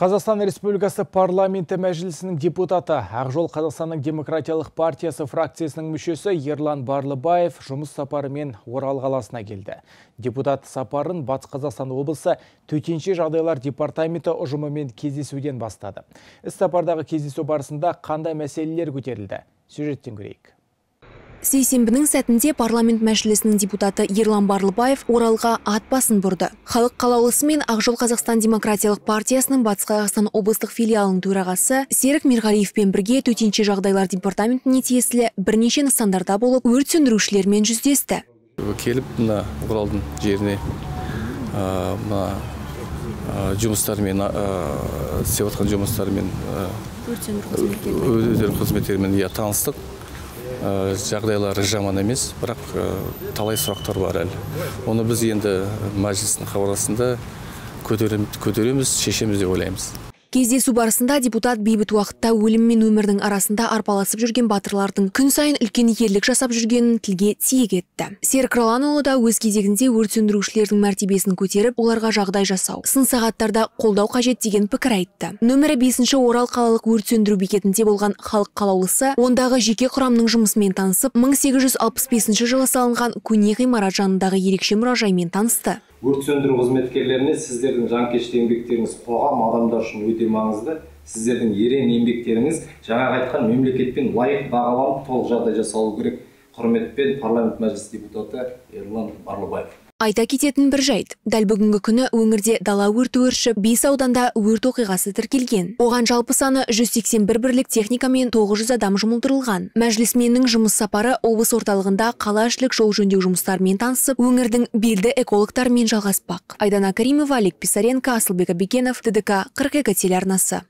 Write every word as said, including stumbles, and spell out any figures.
Қазақстан Республикасы парламенті мәжілісінің депутаты, Ақжол Қазақстанның демократиялық партиясы фракциясының мүшесі Ерлан Барлыбаев жұмыс сапарымен Орал қаласына келді. Депутат сапарын Батыс Қазақстан облысы төтенше жағдайлар департаменті ұжымымен кездесуден бастады. Іс сапардағы кездесу барысында қандай мәселелер көтерілді? Сюжеттен көрейік. Сейсенбінің сәтінде парламент мәжілісінің депутаты Ерлан Барлыбаев Оралға ат басын бұрды. Халық қалаулысы мен Ақжол Қазақстан демократиялық партиясының Батыс Қазақстан облыстық филиалының төрағасы Серік Мерғалиевпен бірге төтенше жағдайлар департаментіне тиесілі бірнеше нысандарда болып, өрт сөндірушілермен жүздесті. Келіп, мына Оралдың жеріне мына жұмыстармен, істеп жатқан жұмыстармен, өздерінің қызметтерімен таныстық. Жағдайлары жаман емес, бірақ талай сұрақтар бар әлі. Оны біз енді мәжілістің қаулысында көтереміз, шешеміз деп ойлаймыз. Кездесу барысында депутат бейбіт уақытта өлім мен өмірдің арасында арпаласып жүрген батырлардың күн сайын үлкен ерлік жасап жүргенін тілге тиек етті. Серік Раланұлы да өз кезегінде өрт сөндірушілердің мәртебесін көтеріп, оларға жағдай жасау, сын сағаттарда қолдау қажет деген пікір айтты. Нөмірі бесінші Орал қалалық өрт сөндіру бекетінде болған халық қалаулысы ондағы жеке құрамның жұмысымен танысып, мың сегіз жүз алпыс бесінші жылы салынған көне ғимарат жанындағы ерекше мұражаймен танысты. Өрт сөндіру қызметкерлеріне сіздердің жанкешті еңбектеріңіз қоғам адамдар үшін өте маңызды. Сіздердің ерен еңбектеріңіз жаңа айтқан мемлекетпен лайық бағаланып, толық жағдай жасалу керек. Құрметпен парламент мәжіліс депутаты Ерлан Барлыбаев. Айта кететін бір жайт. Дәл бүгінгі күні өңірде дала өрті өршіп, бес ауданда өрт оқиғасы тіркелген. Оған жалпы саны жүз сексен бір бірлік техника мен тоғыз жүз адам жұмылдырылған. Мәжілісменнің жұмыс сапары облыс орталығында қалаішілік жол жөндеу жұмыстарымен танысып, өңірдің белді экологтарымен жалғаспақ. Айдана Каримова, Олег Писаренко, Асылбек Абекенов, ТДК қырық екі телеарнасы.